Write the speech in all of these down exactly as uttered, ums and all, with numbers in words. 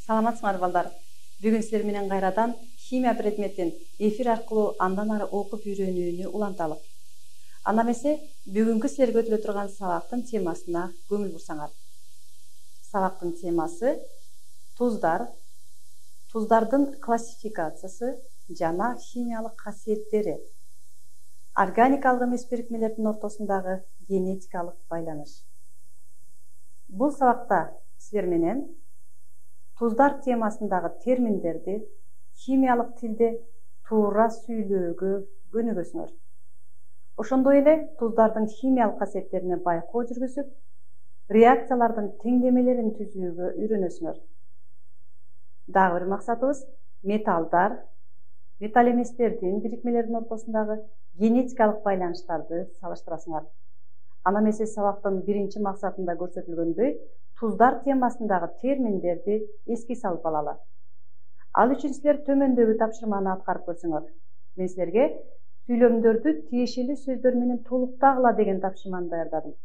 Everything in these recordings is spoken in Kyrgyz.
Саламатсыңар балдар. Бүгүн силер менен кайрадан химия предметин эфир аркылуу андан ары окуп үйрөнүүнү уланталык. Анда эмесе бүгүнкү силерге өтүлө турган сабактын темасына көңүл бурсаңар. Сабактын темасы туздар, туздардын классификациясы жана химиялык касиеттери, органикалык эмес бирикмелердин ортосундагы генетикалык байланыш. Бул сабакта силер менен туздар темасындагы терминдерди химиялык тилде туура сүйлөөгө көнүгөсүңөр. Ошондой эле туздардын химиялык касиеттерине байкоо жүргүзүп, реакциялардын теңдемелерин түзүүгө үйрөнөсүңөр. Дагы бир максатыбыз металлдар, металл эместердин бирикмелердин ортосундагы генетикалык байланыштарды салыштырасыңар. Ана эмесе сабактын биринчи максатында көрсөтүлгөндөй, туздар темасындагы терминдерди эске салып алалы. Ал үчүн силер төмөндөгү тапшырманы аткарып көрсөңөр. Мен силерге сүйлөмдөрдү тиешелүү сөздөр менен толуктагыла деген тапшырманы даярдадым.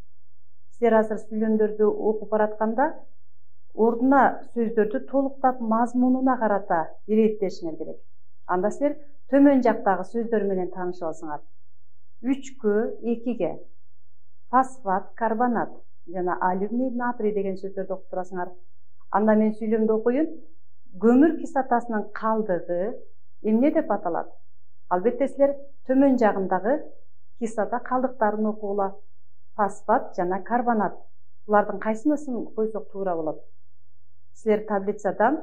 Силер азыр сүйлөмдөрдү окуп баратканда ордуна сөздөрдү толуктап мазмунуна карата иреттешиңер керек. Анда силер төмөн жактагы сөздөр менен таанышып алсаңар. үчкө, экиге, фосфат, карбонат жана алюминий, натрий деген сөздөрдү окуп турасыңар. Анда мен сүйлөмдү окуйун. Көмүр кислотасынын калдыгы эмне деп аталат? Албетте силер төмөн жагындагы кислота калдыктарын окугула. Фосфат жана карбонат. Булардын кайсынысын койсок туура болот? Силер таблицадан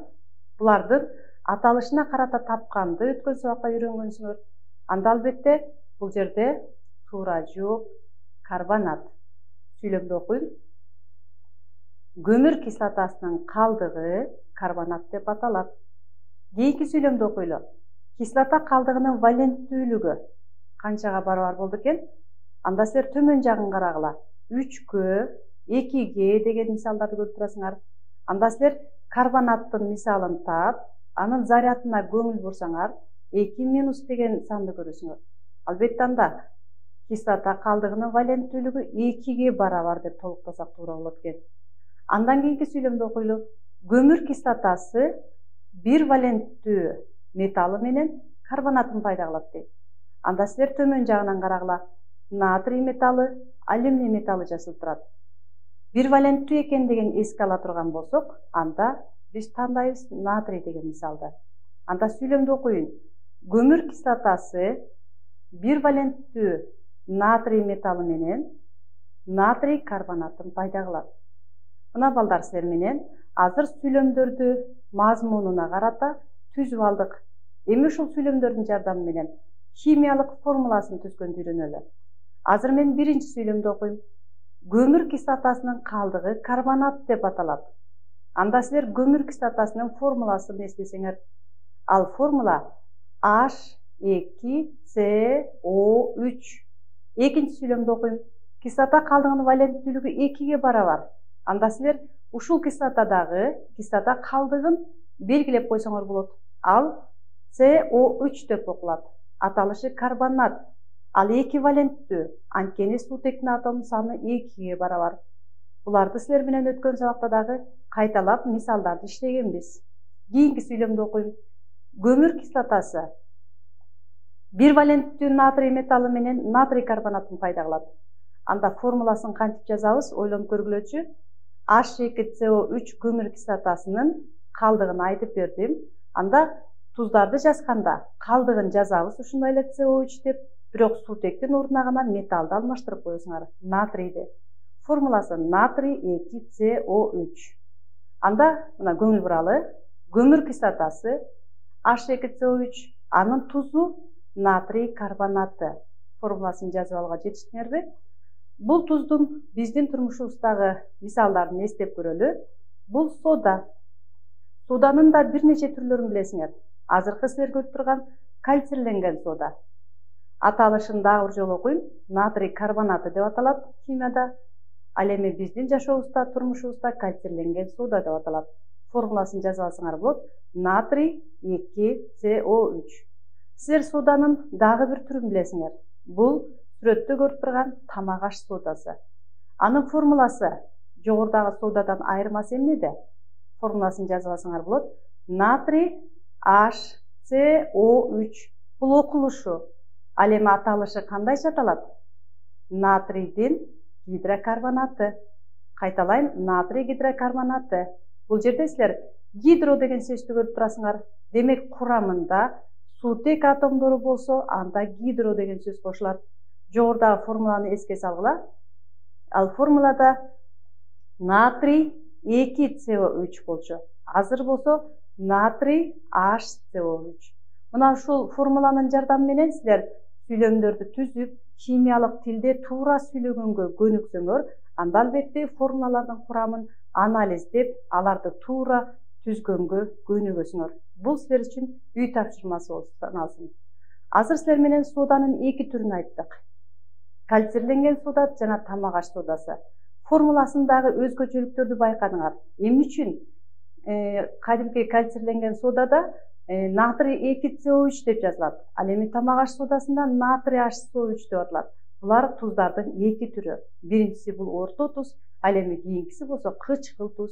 булардын аталышына карата тапканды өткөн сабакта үйрөнгөнсүңөр. Анда албетте бул жерде туура жооп карбонат. Сүйлөмдү окуйм. Көмүр кислотасынын калдыгы карбонат деп аталат. Кийинки сүйлөмдү окуйлу. Кислота калдыгынын валенттүүлүгү канчага барабар болду экен? Анда силер төмөн жагын карагыла. үчкө, экиге деген мисалдарды көрүп турасыңар. Анда силер карбонаттын мисалын таап, анын зарядына көңүл бурсаңар, эки минус деген санды көрөсүңөр. Албетте анда кислота калдыгынын валенттүүлүгү экиге барабар деп толуктасак туура болот экен. Андан кийинки сүйлөмдү окуйлу. Көмүр кислотасы бир валенттүү металлы менен карбонатын пайда кылат дейт. Анда силер төмөн жагынан карагыла. Натрий металлы, алюминий металлы жасалып турат. Бир валенттүү экен деген эске ала турган болсок, анда биз тандайбыз натрий деген мисалды. Анда сүйлөмдү окуйун. Көмүр кислотасы бир валенттүү натрий металлы менен натрий карбонатын пайда кылат. Мына балдар силер менен азыр сүйлөмдөрдү мазмунуна карата түзүп алдык. Эми ушул сүйлөмдөрдүн жардамы менен химиялык формуласын түзгөндү үйрөнөлү. Азыр мен биринчи сүйлөмдү окуйм. Көмүр кислотасынын калдыгы карбонат деп аталат. Анда силер көмүр кислотасынын формуласын эстесеңер, ал формула H эки С О үч. Экинчи сүйлөмдү окуйм. Кислота калдыгынын валенттүүлүгү экиге барабар. Анда силер ушул кислотадагы кислота калдыгын белгилеп койсоңор болот. Ал С О үч деп окулат. Аталышы карбонат. Ал эки валенттүү. Анткени суутектин атом саны экиге барабар. Буларды силер менен өткөн сабакта дагы кайталап мисалдарды иштегенбиз. Кийинки сүйлөмдү окуйм. Көмүр кислотасы бир валенттүү натрий металлы менен натрий карбонатын пайда кылат. Анда формуласын кантип жазабыз? Ойлонуп көргүлөчү. H эки С О үч көмүр кислотасынын калдыгын айтып бердим. Анда туздарды жазганда калдыгын жазабыз ушундай эле С О үч деп, бирок суутектин ордуна гана металлды алмаштырып коесуңар, натрийди. Формуласы натрий эки С О үч. Анда мына көңүл буралы. Көмүр кислотасы H эки С О үч, анын тузу натрий карбонаты. Формуласын жазып алууга жетиштиңерби? Бул туздун биздин турмушубуздагы мисалдарын эстеп көрөлү. Бул сода. Соданын да бир нече түрлөрүн билесиңер. Азыркы силер көрүп турган кальцирленген сода. Аталышын дагы бир жолу окуйм. Натрий карбонаты деп аталат химияда. Ал эми биздин жашообузда, турмушубузда кальцирленген сода деп аталат. Формуласын жазып алсаңар болот. Натрий эки С О үч. Силер соданын дагы бир түрүн билесиңер. Бул сүрөттө көрүп турган тамак аш содасы. Анын формуласы жогорудагы содадан айырмасы эмнеде? формуласын жазып алсаңар болот. Натрий H C O үч. Бул окулушу. Ал эми аталышы кандайча аталат? Натрийдин гидрокарбонаты. Кайталайм, натрий гидрокарбонаты. Бул жерде силер гидро деген сөздү көрүп турасыңар. Демек курамында суутек атомдору болсо, анда гидро деген сөз кошулат. Жогорудагы формуланы эске салгыла. Ал формулада натрий эки С О үч болчу. Азыр болсо натрий H C O үч. Мына ушул формуланын жардамы менен силер сүйлөмдөрдү түзүп, химиялык тилде туура сүйлөгөнгө көнүксөңөр, анда албетте формулалардын курамын анализдеп, аларды туура түзгөнгө көнүгөсүңөр. Бул силер үчүн үй тапшырмасы болуп саналсын. Азыр силер менен соданын эки түрүн айттык. Кальцирленген сода жана тамак аш содасы. Формуласындагы өзгөчөлүктөрдү байкадыңар. Эмне үчүн кадимки кальцирленген содада натрий эки С О үч деп жазылат. Ал эми тамак аш содасында натрий H C O үч деп аталат. Булар туздардын эки түрү. Биринчиси бул орто туз, ал эми кийинкиси болсо кычкыл туз.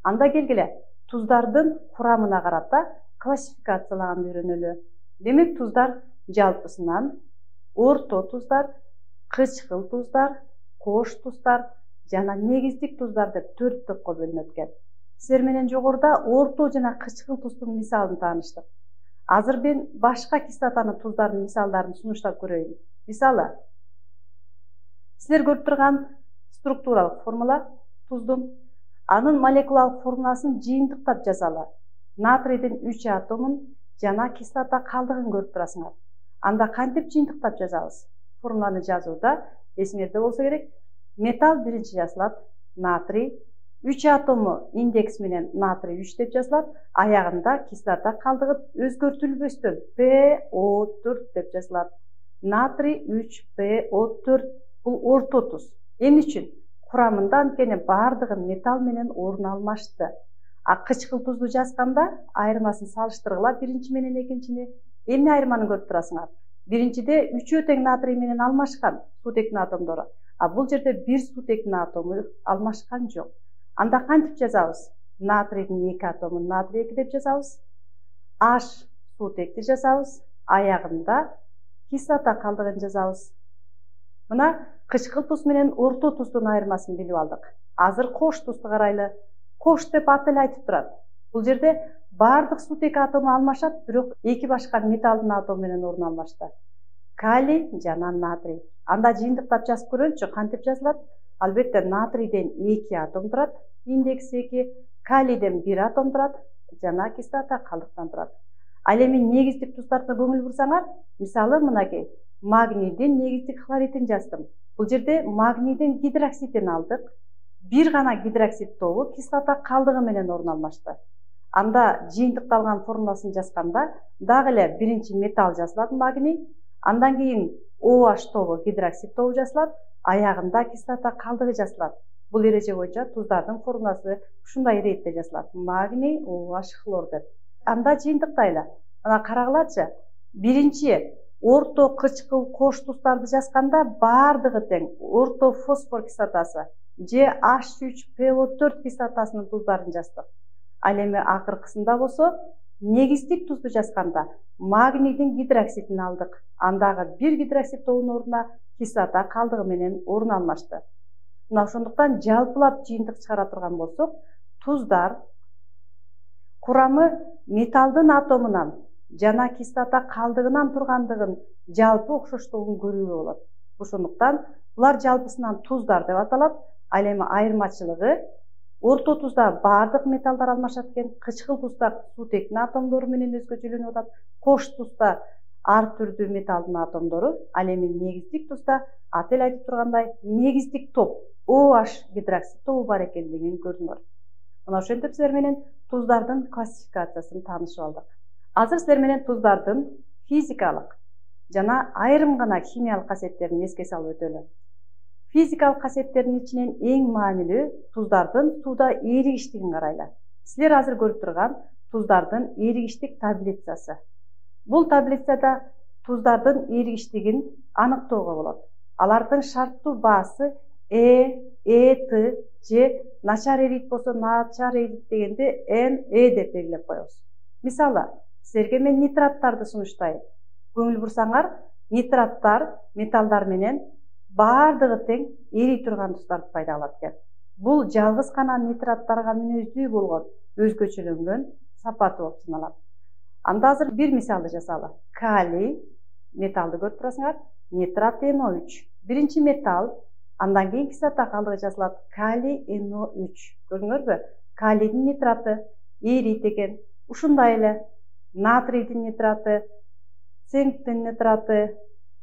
Анда келгиле, туздардын курамына карата классификациялаганды үйрөнөлү. Демек туздар жалпысынан орто туздар, кычкыл туздар, кош туздар жана негиздик туздар деп төрт топко бөлүнөт экен. Силер менен жогоруда орто жана кычкыл туздун мисалын тааныштык. Азыр мен башка кислотаны туздардын мисалдарын сунуштап көрөйүн. Мисалы, силер көрүп турган структуралык формула туздун, анын молекулалык формуласын жыйынтыктап жазалы. Натрийдин үч атомун жана кислота калдыгын көрүп турасыңар. Анда кантип жыйынтыктап жазабыз? Формуланы жазууда эсиңерде болсо керек, металл биринчи жазылат, натрий, үч атому индекс менен натрий үч деп жазылат, аягында кислота калдыгы өзгөртүлбөстөн P O төрт деп жазылат. Натрий үч P O төрт бул орто туз. Эмне үчүн? Курамында анткени бардыгы металл менен орун алмашты. А кычкыл тузду жазганда айырмасын салыштыргыла биринчи менен экинчини. Эмне айырманы көрүп турасыңар? Биринчиде үчөө тең натрий менен алмашкан суутектин атомдору. А бул жерде бир суутектин атому алмашкан жок. Анда кантип жазабыз? Натрийдин эки атомун натрий эки деп жазабыз. H суутекти жазабыз. Аягында кислота калдыгын жазабыз. Мына кычкыл туз менен орто туздун айырмасын билип алдык. Азыр кош тузду карайлы. Кош деп аты эле айтып турат. Бул жерде бардык суутек атому алмашат, бирок эки башка металлдын атому менен орун алмашты. Калий жана натрий. Анда жыйынтыктап жазып көрөйүнчү, кантип жазылат? Албетте натрийден эки атом турат, индекс эки, калийден бир атом турат, жана кислота калдыктан турат. Ал эми негиздик туздардын көңүл бурсаңар, мисалы мынакей, магнийдин негиздик хлоридин жаздым. Бул жерде магнийдин гидроксидин алдык. Бир гана гидроксид тобу кислота калдыгы менен орун алмашты. Анда жыйынтыкталган формуласын жазганда дагы эле биринчи металл жазылат, магний, андан кийин OH тобу гидроксид тобу жазылат, аягында кислота калдыгы жазылат. Бул эреже боюнча туздардын формуласы ушундай иретте жазылат. Магний OH хлор деп. Анда жыйынтыктайлы. Мына карагылачы. Биринчи орто кычкыл кош туздарды жазганда бардыгы тең. Орто фосфор кислотасы же H үч P O төрт кислотасынын туздарын жаздык. Ал эми акыркысында болсо негиздик тузду жазганда магнийдин гидроксидин алдык. Андагы бир гидроксид тобунун ордуна кислота калдыгы менен орун алмашты. Мына ошондуктан жалпылап жыйынтык чыгара турган болсок, туздар курамы металлдын атомунан жана кислота калдыгынан тургандыгын жалпы окшоштугун көрүүгө болот. Ошондуктан булар жалпысынан туздар деп аталат. Ал эми айырмачылыгы орто тузда бардык металлдар алмашат экен, кычкыл тузда суутектин атомдору менен өзгөчөлөнүп атат, кош тузда ар түрдүү металлдын атомдору, ал эми негиздик тузда аты эле айтып тургандай негиздик топ OH гидроксид тобу бар экендигин көрдүңөр. Мына ошентип силер менен туздардын классификациясын таанышып алдык. Азыр силер менен туздардын физикалык жана айрым гана химиялык касиеттерин эске салып өтөлү. Физикалык касиеттердин ичинен эң маанилүү туздардын сууда эригиштигин карайлы. Силер азыр көрүп турган туздардын эригиштик таблицасы. Бул таблицада туздардын эригиштигин аныктоого болот. Алардын шарттуу баасы Э, эт же начар эрийт болсо начар эрийт дегенде н э деп белгилеп коебуз. Мисалы, силерге мен нитраттарды сунуштайм. Көңүл бурсаңар, нитраттар металлдар менен баардыгы тең эрий турган тустарды пайда кылат экен. Бул жалгыз гана нитраттарга мүнөздүү болгон өзгөчөлөнгөн сапаты болуп саналат. Анда азыр бир мисалды жасалы. Калий металлды көрүп турасыңар, нитрат эн о үч. Биринчи металл, андан кийин кислота калдыгы жасалат. Калий эн о үч. Көрдүңөрбү? Калийдин нитраты эрийт экен. Ушундай эле натрийдин нитраты, цинктин нитраты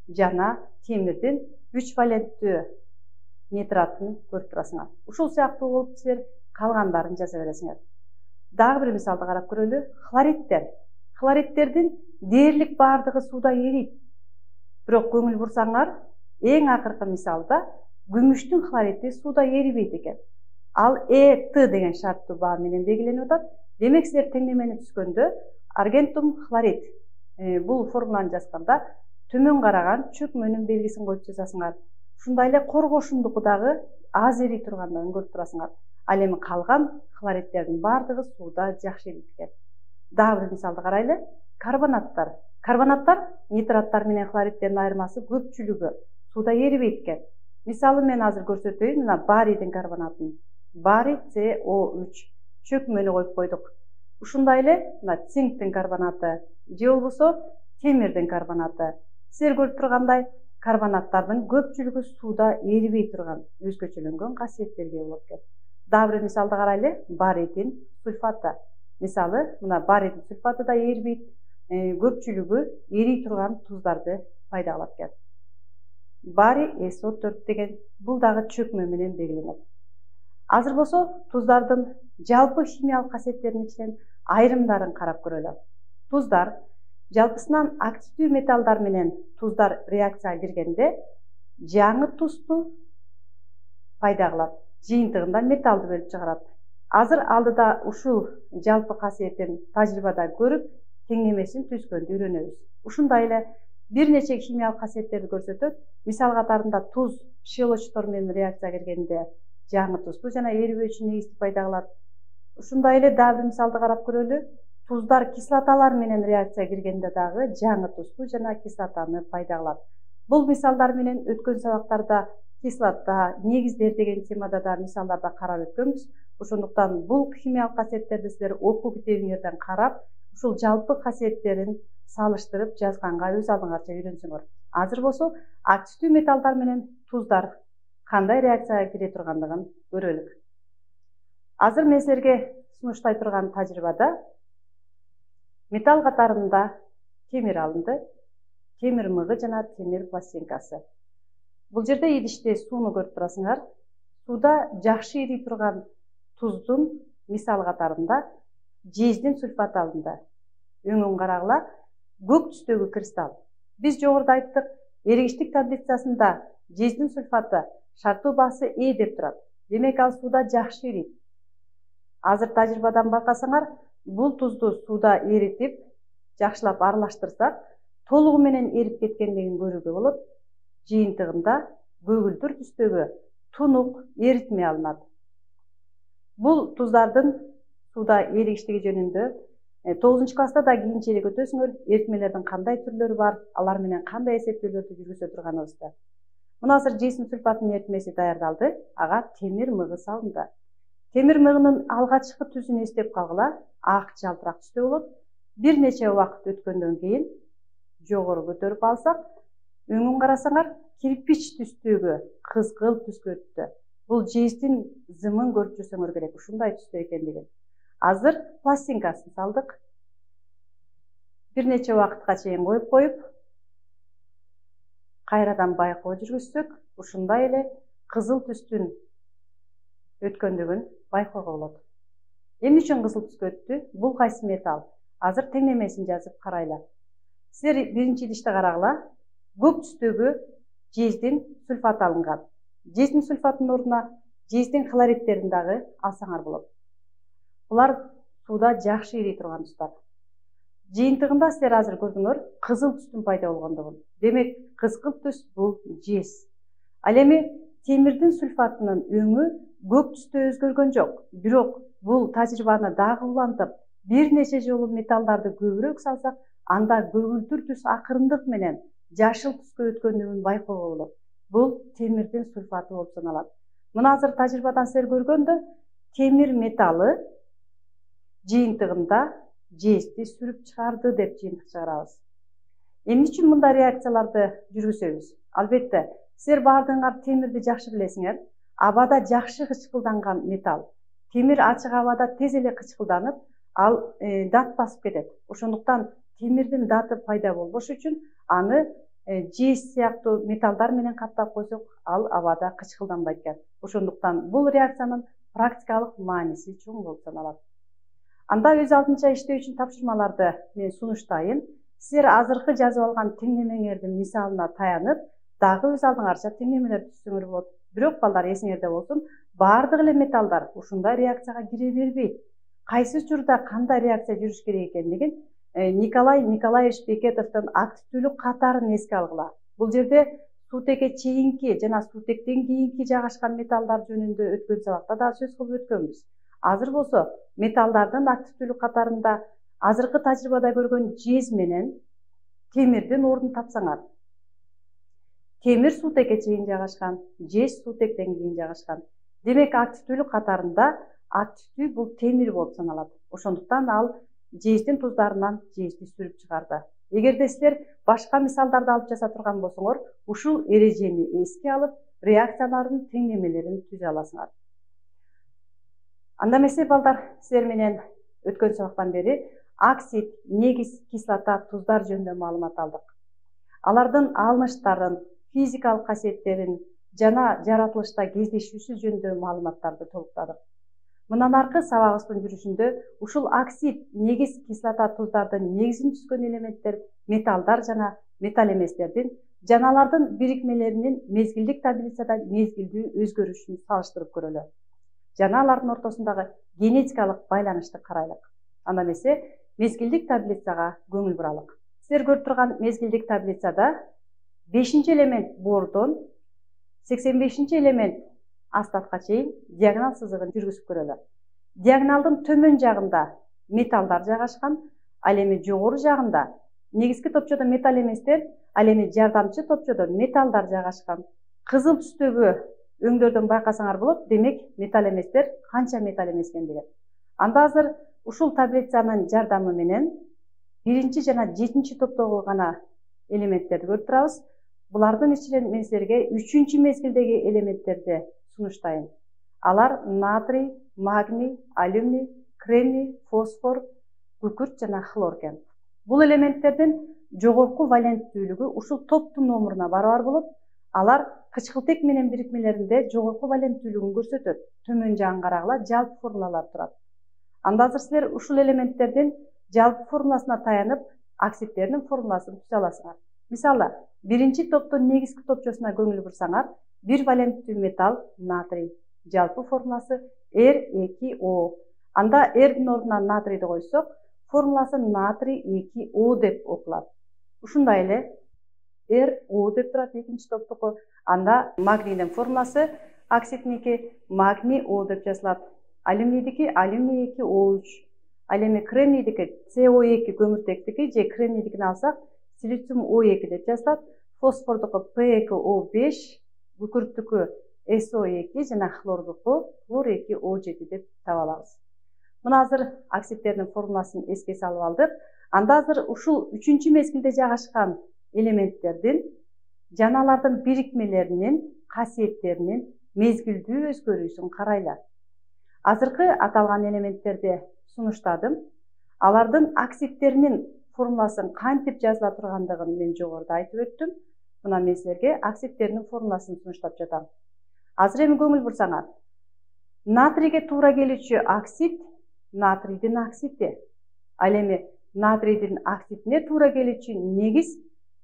жана темирдин үч валенттүү нитратын көрүп турасыңар. Ушул сыяктуу болуп силер калгандарын жаза бересиңер. Дагы бир мисалды карап көрөлү. Хлоридтер. Хлоридтердин дээрлик баардыгы сууда эрийт. Бирок көңүл бурсаңар, эң акыркы мисалда күмүштүн хлориди сууда эрибейт экен. Ал эт деген шарттуу баа менен белгиленип атат. Демек силер теңнемени түзгөндө аргентум хлорид бул формуланы жазганда төмөн караган чөкмөнүн белгисин коюп жазасыңар. Ушундай эле коргошундуку дагы аз эрий тургандыгын көрүп турасыңар. Ал эми калган хлоридтердин баардыгы сууда жакшы эрийт экен. Дагы бир мисалды карайлы. Карбонаттар. Карбонаттар нитраттар менен хлоридтердин айырмасы көпчүлүгү сууда эрибейт экен. Мисалы мен азыр көрсөтөйүн, мына барийдин карбонатын. Барий С О үч. Чөкмөнү коюп койдук. Ушундай эле мына цинктин карбонаты же болбосо темирдин карбонаты. Силер көрүп тургандай, карбонаттардын көпчүлүгү сууда эрибей турган өзгөчөлөнгөн касиеттерге болот экен. Дагы бир мисалды карайлы. Барийдин сульфаты. Мисалы, мына барийдин сульфаты да эрибейт, көпчүлүгү эрий турган туздарды пайда кылат экен. Барий С О төрт деген бул дагы чөкмө менен белгиленет. Азыр болсо туздардын жалпы химиялык касиеттеринин ичинен айрымдарын карап көрөлү. Туздар жалпысынан активдүү металлдар менен туздар реакцияга киргенде жаңы тузду пайда кылат. Жыйынтыгында металлды бөлүп чыгарат. Азыр алдыда ушул жалпы касиетин тажрыйбада көрүп, теңнемесин түзгөндү үйрөнөбүз. Ушундай эле бир нече химиялык касиеттерди көрсөтөт. Мисал катарында туз щелочтор менен реакцияга киргенде жаңы тузду жана эрибөөчү негизди пайда кылат. Ушундай эле дагы бир мисалды карап көрөлү. Туздар кислоталар менен реакцияга киргенде дагы жаңы тузду жана кислотаны пайда кылат. Бул мисалдар менен өткөн сабактарда кислота, негиздер деген темада да мисалдарда карап өткөнбүз. Ошондуктан бул химиялык касиеттерди силер окуу китебиңерден карап, ушул жалпы касиеттерин салыштырып жазганга өз алдыңарча үйрөнсөңөр. Азыр болсо активдүү металлдар менен туздар кандай реакцияга кире тургандыгын көрөлүк. Азыр мен силерге сунуштай турган тажрыйбада металл катарында темир алынды, темир мыгы жана темир пластинкасы. Бул жерде идиште сууну көрүп турасыңар. Сууда жакшы эрий турган туздун мисал катарында жездин сульфаты алынды. Өңүн карагыла, көк түстөгү кристалл. Биз жогоруда айттык, эригиштик таблицасында жездин сульфаты шарттуу баасы Э деп турат. Демек ал сууда жакшы эрийт. Азыр тажрыйбадан байкасаңар, бул тузду сууда эритип, жакшылап аралаштырсак, толугу менен эрип кеткендигин көрүүгө болот. Жыйынтыгында көгүлдүр түстөгү тунук эритме алынат. Бул туздардын сууда эригиштиги жөнүндө тогузунчу класста да кийинчерээк өтөсүңөр, эритмелердин кандай түрлөрү бар, алар менен кандай эсептөөлөрдү жүргүзө турганыбызды. Мына азыр жездин сульфатынын эритмеси даярдалды, ага темир мыгы салынды. Темир мыгынын алгачкы түсүн эстеп калгыла, ак жалтырак түстө болот. Бир нече убакыт өткөндөн кийин жогору көтөрүп алсак, өңүн карасаңар, кирпич түстөгү кызгыл түскө өттү. Бул жездин зымын көрүп жүрсөңөр керек, ушундай түстө экендигин. Азыр пластинкасын салдык. Бир нече убакытка чейин коюп коюп, кайрадан байкоо жүргүзсөк, ушундай эле кызыл түстүн өткөндүгүн байкоого болот. Эмне үчүн кызыл түскө өттү? Бул кайсы металл? Азыр теңнемесин жазып карайлы. Силер биринчи идиште карагыла, көк түстөгү жездин сульфаты алынган. Жездин сульфатынын ордуна жездин хлоридтерин дагы алсаңар болот. Булар сууда жакшы эрий турган туздар. Жыйынтыгында силер азыр көрдүңөр, кызыл түстүн пайда болгондугун. Демек, кызгыл түс бул жез. Ал эми темирдин сульфатынын өңү көк түстө өзгөргөн жок. Бирок бул тажрыйбаны дагы улантып, бир нече жолу металлдарды көбүрөөк салсак, анда көгүлтүр түс акырындык менен жашыл түскө өткөндүгүн байкоого болот. Бул темирдин сульфаты болуп саналат. Мына азыр тажрыйбадан силер көргөндө темир металлы жыйынтыгында жезди сүрүп чыгарды деп жыйынтык чыгарабыз. Эмне үчүн мындай реакцияларды жүргүзөбүз? Албетте, силер баардыгыңар темирди жакшы билесиңер. Абада жакшы кычкылданган металл. Темир ачык абада тез эле кычкылданып, ал э, дат басып кетет. Ошондуктан темирдин даты пайда болбош үчүн аны э, жез сыяктуу металлдар менен каптап койсок, ал абада кычкылданбайт экен. Ошондуктан бул реакциянын практикалык мааниси чоң болуп саналат. Анда өз алдынча иштөө үчүн тапшырмаларды мен сунуштайын. Силер азыркы жазып алган теңдемеңердин мисалына таянып, дагы өз алдыңарча теңдемелер түзсөңөр болот. Бирок балдар эсиңерде болсун, баардык эле металлдар ушундай реакцияга кире бербейт. Кайсы учурда кандай реакция жүрүш керек экендигин Николай Николаевич Бекетовдун активдүүлүк катарын эске алгыла. Бул жерде суутекке чейинки жана суутектен кийинки жайгашкан металлдар жөнүндө өткөн сабакта да сөз кылып өткөнбүз. Азыр болсо металлдардын активдүүлүк катарында азыркы тажрыйбада көргөн жез менен темирдин ордун тапсаңар. Темир суутекке чейин жайгашкан, жез суутектен кийин жайгашкан. Демек активдүүлүк катарында активдүү бул темир болуп саналат. Ошондуктан ал жездин туздарынан жезди сүрүп чыгарды. Эгерде силер башка мисалдарды алып жаса турган болсоңор, ушул эрежени эске алып, реакциялардын теңдемелерин түзө аласыңар. Анда эмесе балдар, силер менен өткөн сабактан бери оксид, негиз, кислота, туздар жөнүндө маалымат алдык. Алардын алыныштарын, физикалык касиеттерин жана жаратылышта кездешүүсү жөнүндө маалыматтарды толуктадык. Мындан аркы сабагыбыздын жүрүшүндө ушул оксид, негиз, кислота, туздардын негизин түзгөн элементтер, металлдар жана металл эместердин жана алардын бирикмелеринин мезгилдик таблицада мезгилдүү өзгөрүшүн салыштырып көрөлү. Жана алардын ортосундагы генетикалык байланышты карайлык. Анда эмесе мезгилдик таблицага көңүл буралык. Силер көрүп турган мезгилдик таблицада бешинчи элемент бордон сексен бешинчи элемент астатка чейин диагонал сызыгын жүргүзүп көрөлү. Диагоналдын төмөн жагында металлдар жайгашкан, ал эми жогору жагында негизги топчодо металл эместер, ал эми жардамчы топчодо металлдар жайгашкан. Кызыл түстөгү өңдөрдөн байкасаңар болот, демек металл эместер канча металл эмес экендиги. Анда азыр ушул таблицанын жардамы менен биринчи жана жетинчи топтогу гана элементтерди көрүп турабыз. Булардын ичинен мен силерге үчүнчү мезгилдеги элементтерди сунуштайын. Алар натрий, магний, алюминий, кремний, фосфор, күкүрт жана хлор экен. Бул элементтердин жогорку валенттүүлүгү ушул топтун номуруна барабар болот. Алар кычкылтек менен бирикмелеринде жогорку валенттүүлүгүн көрсөтөт. Төмөн жагын карагыла, жалпы формулалар турат. Анда азыр силер ушул элементтердин жалпы формуласына таянып, оксидтердин формуласын түзө аласыңар. Мисалы, биринчи топтун негизги топчосуна көңүл бурсаңар, бир валенттүү металл натрий. Жалпы формуласы эр эки о. Анда эрдин ордуна натрийди койсок, формуласы натрий эки о деп окулат. Ушундай эле эр о деп турат экинчи топтуку. Анда магнийдин формуласы оксидники магний о деп жазылат. Алюминийдики алюминий эки о үч. Ал эми кремнийдики це о эки көмүртектики же кремнийдикин алсак силициум о эки деп жазылат. Фосфордуку пэ эки о беш, күкүрттүкү эс о эки жана хлордуку хлор эки о жети деп таба алабыз. Мына азыр оксидтердин формуласын эске салып алдык. Анда азыр ушул үчүнчү мезгилде жайгашкан элементтердин жана алардын бирикмелеринин касиеттеринин мезгилдүү өзгөрүүсүн карайлы. Азыркы аталган элементтерди сунуштадым. Алардын оксидтеринин формуласын кантип жазыла тургандыгын мен жогоруда айтып өттүм. Мына мен силерге оксидтеринин формуласын сунуштап жатам. Азыр эми көңүл бурсаңар. Натрийге туура келүүчү оксид натрийдин оксиди. Ал эми натрийдин оксидине туура келүүчү негиз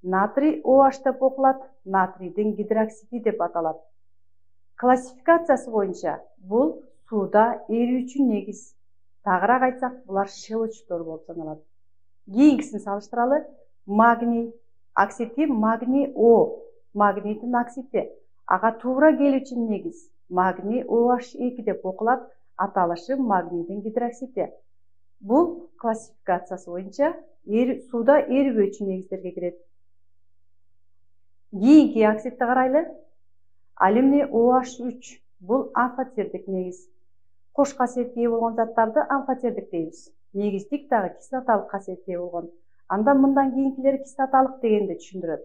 натрий OH деп окулат, натрийдин гидроксиди деп аталат. Классификациясы боюнча бул сууда эрүүчү негиз. Тагыраак айтсак, булар шелочтор болуп саналат. Кийинкисин салыштыралы. Магний оксиди магний О, магнийдин оксиди. ага туура келүүчү негиз магний о эйч эки деп окулат, аталышы магнийдин гидроксиди. Бул классификациясы боюнча сууда эрибөөчү негиздерге кирет. Кийинки оксидти карайлы. Алюминий о эйч үч бул амфотердик негиз. Кош касиетке ээ болгон заттарды амфотердик дейбиз. Негиздик дагы кислоталык касиетке ээ болгон. Анда мындан кийинкилери кислоталык дегенди түшүндүрөт.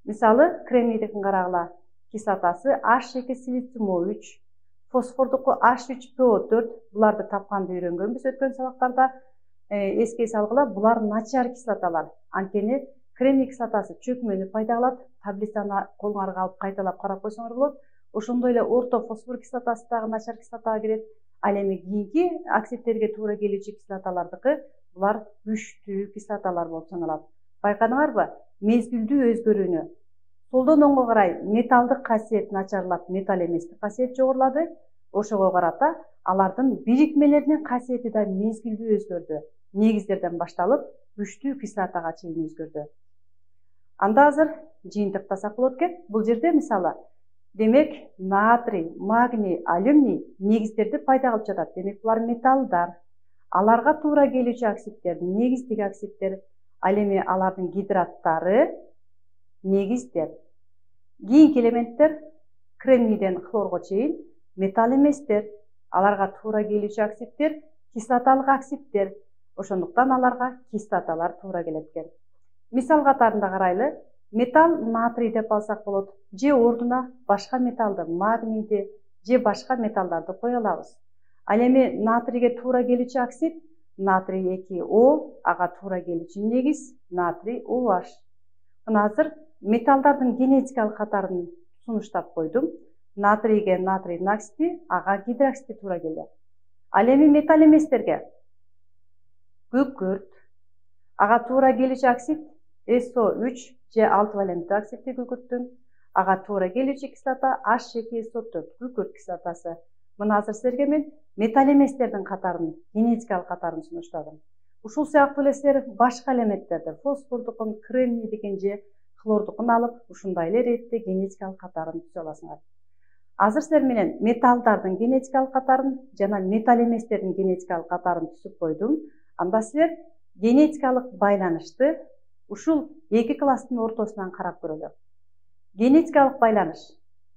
Мисалы, кремнийдикин карагыла. Кислотасы эйч эки силициум о үч, фосфордуку эйч үч пэ о төрт. Буларды тапканды үйрөнгөнбүз өткөн сабактарда. Эске салгыла, булар начар кислоталар. Анткени кремний кислотасы чөкмөнү пайда кылат. Таблицаны колуңарга алып кайталап карап койсоңор болот. Ошондой эле орто фосфор кислотасы дагы начар кислотага кирет. Ал эми кийинки оксидтерге туура келүүчү кислоталардыкы булар күчтүү кислоталар болуп саналат. Байкадыңарбы? Мезгилдүү өзгөрүүнү. Солдон оңго карай металдык касиет начарлап, металл эместик касиет жогорулады. Ошого карата алардын бирикмелеринин касиети да мезгилдүү өзгөрдү. Негиздерден башталып, күчтүү кислотага чейин өзгөрдү. Анда азыр жыйынтыктасак болот экен. Бул жерде мисалы, демек натрий, магний, алюминий негиздерди пайда кылып жатат. Демек булар металлдар. Аларга туура келүүчү оксидтер, негиздик оксидтер, ал эми алардын гидраттары негиздер. Кийинки элементтер кремнийден хлорго чейин металл эместер. Аларга туура келүүчү оксидтер кислоталык оксидтер. Ошондуктан аларга кислоталар туура келет экен. Мисал катарында карайлы. Металл натрий деп алсак болот. Же ордуна башка металлды, магнийди, же башка металлдарды кое алабыз. Ал эми натрийге туура келүүчү оксид натрий эки о, ага туура келүүчү негиз натрий о эйч. Мына азыр металлдардын генетикалык катарын сунуштап койдум. Натрийге натрийдин оксиди, ага гидроксиди туура келди. Ал эми металл эместерге күкүрт, ага туура келүүчү оксид эс о үч же алты валенттүү оксидти күкүрттүн, ага туура келүүчү кислота эйч эки эс о төрт күкүрт кислотасы. Мына азыр силерге мен металл эместердин катарын, генетикалык катарын сунуштадым. Ушул сыяктуу эле силер башка элементтерди, фосфордукун, кремнийдикин же хлордукун алып, ушундай эле иретте генетикалык катарын түзө аласыңар. Азыр силер менен металлдардын генетикалык катарын жана металл эместердин генетикалык катарын түзүп койдум. Анда силер генетикалык байланышты ушул эки класстын ортосунан карап көрөлү. Генетикалык байланыш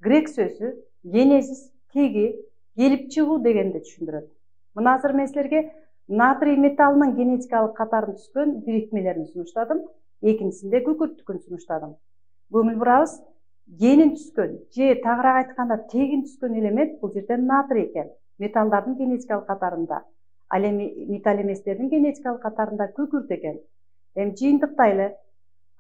грек сөзү генезис, теги, келип чыгуу дегенди түшүндүрөт. Мына азыр мен силерге натрий металлынын генетикалык катарын түзгөн бирикмелерин сунуштадым. Экинчисинде күкүрттүкүн сунуштадым. Көңүл бурабыз, генин түзгөн же тагыраак айтканда тегин түзгөн элемент бул жерде натрий экен. Металлдардын генетикалык катарында. Ал эми металл эместердин генетикалык катарында күкүрт экен. Эми жыйынтыктайлы.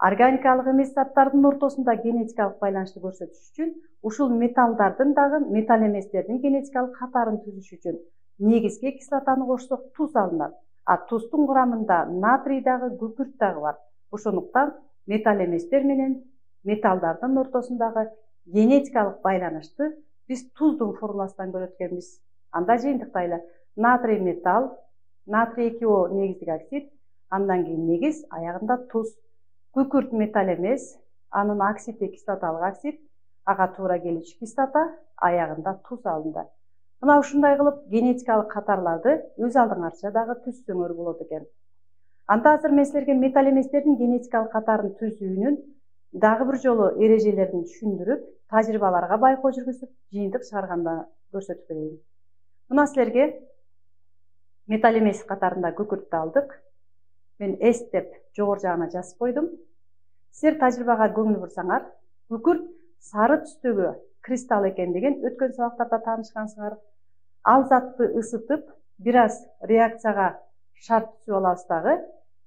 Органикалык эмес заттардын ортосунда генетикалык байланышты көрсөтүш үчүн ушул металлдардын дагы металл эместердин генетикалык катарын түзүш үчүн негизги кислотаны кошсок туз алынат. А туздун курамында натрий дагы, күкүрт дагы бар. Ошондуктан металл эместер менен металлдардын ортосундагы генетикалык байланышты биз туздун формуласынан көрөт экенбиз. Анда жыйынтыктайлы. Натрий металл, натрий эки о негиздик оксид, андан кийин негиз, аягында туз. Күкүрт металл эмес, анын оксиди кислоталык оксид, ага туура келүүчү кислота, аягында туз алынды. Мына ушундай кылып генетикалык катарларды өз алдыңарча дагы түзсөңөр болот экен. Анда азыр мен силерге металл эместердин генетикалык катарын түзүүнүн дагы бир жолу эрежелерин түшүндүрүп, тажрыйбаларга байкоо жүргүзүп, жыйынтык чыгарганда көрсөтүп берейин. Мына силерге металл эмес катарында күкүрттү алдык. Мен S деп жогору жагына жазып койдум. Силер тажрыйбага көңүл бурсаңар, күкүрт сары түстөгү кристалл экендигин өткөн сабактарда таанышкансыңар. Ал затты ысытып, бир аз реакцияга шарт түзүп алабыз дагы.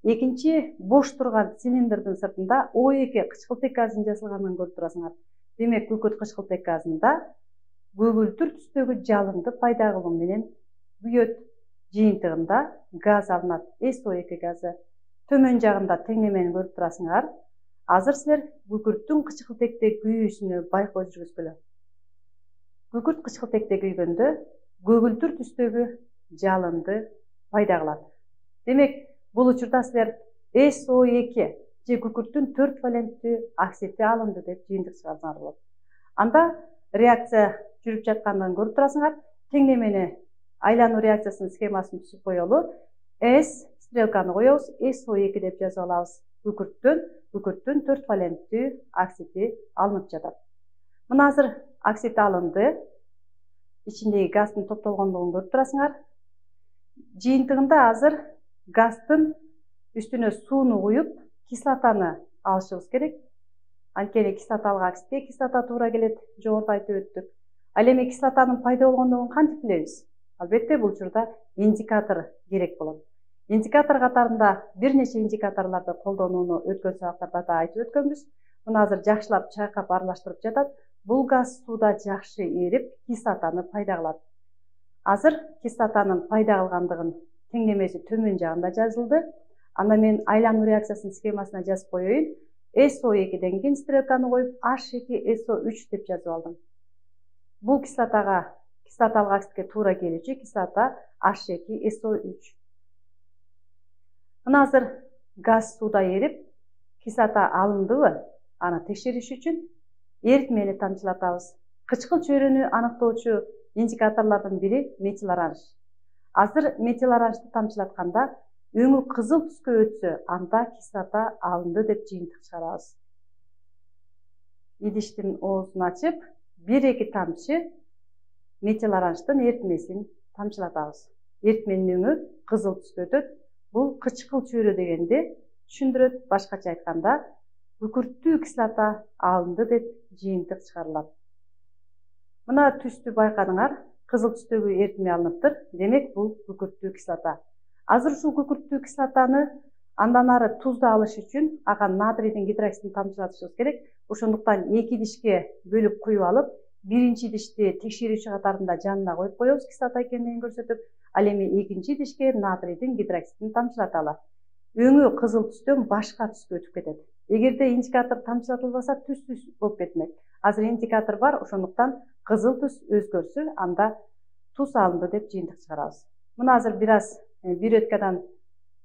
Экинчи бош турган цилиндрдин сыртында О эки кычкылтек газынын жасалганын көрүп турасыңар. Демек, күкүрт кычкылтек газында көгүлтүр түстөгү жалынды пайда кылуу менен күйөт. Жыйынтыгында газ алынат, эс о эки газы. Төмөн жагында теңнемени көрүп турасыңар. Азыр силер күкүрттүн кычкылтекте күйүүсүнө байкоо жүргүзгүлө. Күкүрт кычкылтекте күйгөндө көгүлтүр түстөгү жалынды пайда кылат. Демек, бул учурда силер эс о эки же күкүрттүн төрт валенттүү оксиди алынды деп жыйынтык чыгарсаңар болот. Анда реакция жүрүп жаткандыгын көрүп турасыңар. Теңнемени айлануу реакциясынын схемасын түзүп коелу. S стрелканы коебуз, эс о эки деп жазып алабыз. Күкүрттөн, күкүрттүн төрт валенттүү оксиди алынып жатат. Мына азыр оксид алынды. Ичиндеги газдын топтолгондугун көрүп турасыңар. Жыйынтыгында азыр газдын үстүнө сууну куюп, кислотаны алышыбыз керек. Анткени кислоталык оксидке кислота туура келет, жогоруда айтып өттүк. Ал эми кислотанын пайда болгондугун кантип билебиз? Албетте бул учурда индикатор керек болот. Индикатор катарында бир нече индикаторлорду колдонууну өткөн сабактарда да айтып өткөнбүз. Мына азыр жакшылап чайкап аралаштырып жатат. Бул газ сууда жакшы эрип, кислотаны пайда кылат. Азыр кислотанын пайда кылгандыгын теңдемеси төмөн жагында жазылды. Анда мен айлануу реакциясынын схемасына жазып коеюн. эс о экиден кийин стрелканы коюп, эйч эки эс о үч деп жазып алдым. Бул кислотага, кислоталык оксидке туура келүүчү кислота эйч эки эс о үч. Мына азыр газ сууда эрип, кислота алындыбы? Аны текшериш үчүн эритмени тамчылатабыз. Кычкыл чөйрөнү аныктоочу индикаторлордун бири метил оранж. Азыр метил оранжды тамчылатканда өңү кызыл түскө өтсө, анда кислота алынды деп жыйынтык чыгарабыз. Идиштин оозун ачып, бир-эки тамчы метил оранждын эритмесин тамчылатабыз. Эритменин өңү кызыл түскө өтөт. Бул кычкыл чөйрө дегенди түшүндүрөт. Башкача айтканда, күкүрттүү кислота алынды деп жыйынтык чыгарылат. Мына түстү байкадыңар, кызыл түстөгү эритме алыныптыр. Демек, бул күкүрттүү кислота. Азыр ушул күкүрттүү кислотаны андан ары тузду алыш үчүн ага натрийдин гидроксидин тамчылатышыбыз керек. Ошондуктан эки идишке бөлүп куюп алып, биринчи идишти текшерүүчү катарында жанына коюп коебуз, кислота экендигин көрсөтүп, ал эми экинчи идишке натрийдин гидроксидин тамчылаталы. Өңү кызыл түстөн башка түскө өтүп кетет. Эгерде индикатор тамчылатылбаса, түс-түс болуп кетмек. Азыр индикатор бар, ошондуктан кызыл түс өзгөрсө, анда туз алынды деп жыйынтык чыгарабыз. Мына азыр бир аз бир өткадан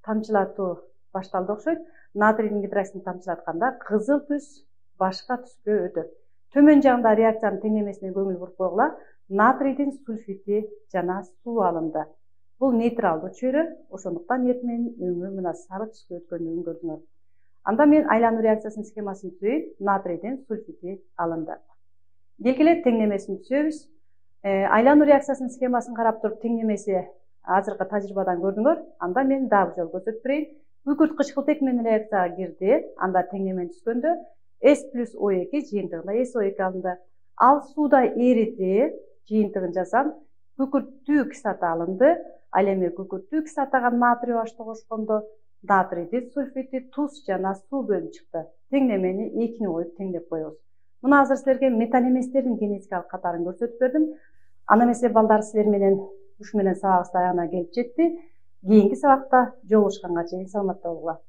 тамчылатуу башталды окшойт. Натрийдин гидроксидин тамчылатканда кызыл түс башка түскө өтөт. Төмөн жагында реакциянын теңдемесине көңүл буруп койгула. Натрийдин сульфити жана суу алынды. Бул нейтралдуу чөйрө, ошондуктан эритменин өңү мына сары түскө өткөндүгүн көрдүңөр. Анда мен айлануу реакциясынын схемасын түзөйүн. Натрийдин сульфити алынды. Келгиле теңдемесин түзөбүз. Айлануу реакциясынын схемасын карап туруп теңдемеси азыркы тажрыйбадан көрдүңөр. Анда мен дагы жолу көрсөтүп берейин. Күкүрт кычкылтек менен реакцияга кирди. Анда теңдемени түзгөндө S плюс о эки жыйынтыгында эс о эки алынды. Ал сууда эриди, жыйынтыгын жазам. Күкүрттүү кислота алынды. Ал эми күкүрттүү кислотага натрий H кошкондо натрийдин сульфити, туз жана суу бөлүнүп чыкты. Теңдемени экини коюп теңдеп коебуз. Мына азыр силерге металл эместердин генетикалык катарын көрсөтүп бердим. Аны эмесе балдар силер менен ушу менен сабагыбыз аягына келип жетти. Кийинки сабакта жолугушканга чейин саламатта болгула.